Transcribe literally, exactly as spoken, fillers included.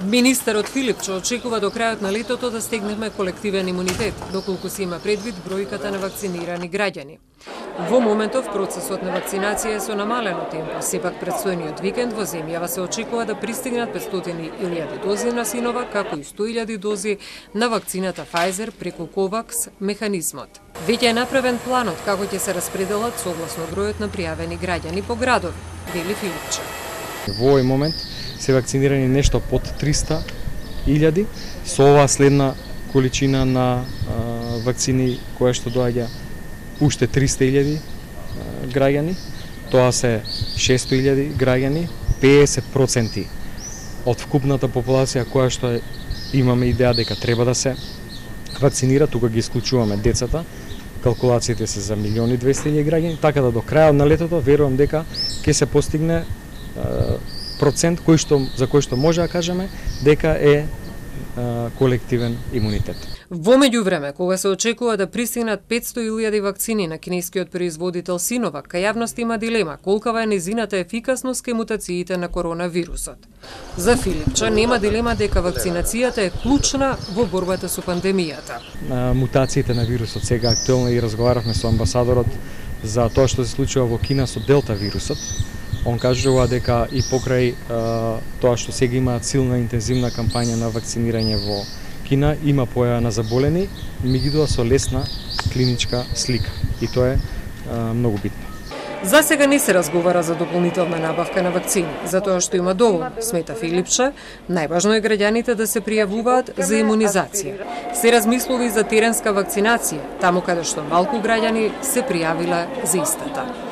Министерот Филипче очекува до крајот на летото да стегнеме колективен имунитет, доколку се има предвид бројката на вакцинирани граѓани. Во моментов процесот на вакцинација е со намалено темпо, сепак предстојниот викенд во земјава се очекува да пристигнат петстотини илјади дози на Синова, како и сто илјади дози на вакцината Pfizer преку Ковакс механизмот. Веќе е направен планот како ќе се распределат согласно бројот на пријавени граѓани по градови, вели Филипче. Во овој момент се вакцинирани нешто под триста илјади, со оваа следна количина на а, вакцини која што доаѓа уште триста илјади граѓани, тоа се шесто илјади граѓани, педесет проценти од вкупната популација која што е, имаме идеја дека треба да се вакцинира, тука ги исклучуваме децата, калкулациите се за милиони и двесте илјади граѓани, така да до крајот на летото верувам дека ќе се постигне а, процент кој што, за кој што може да кажеме дека е а, колективен имунитет. Во меѓувреме, кога се очекува да пристигнат петсто илјади вакцини на кинескиот производител Синовак, кај јавност има дилема колкава е незината ефикасност кај мутациите на коронавирусот. За Филипче нема дилема дека вакцинацијата е клучна во борбата со пандемијата. А, мутациите на вирусот сега актуелно и разговаравме со амбасадорот за тоа што се случува во Кина со делта вирусот. Он кажува дека и покрај а, тоа што сега има силна интензивна кампања на вакцинирање во Кина, има појава на заболени, меѓутоа со лесна клиничка слика. И тоа е а, многу битно. За сега не се разговара за дополнителна набавка на вакцини, затоа што има доволно, смета Филипче. Најважно е граѓаните да се пријавуваат за имунизација. Се размислува и за теренска вакцинација, таму каде што малку граѓани се пријавиле за истата.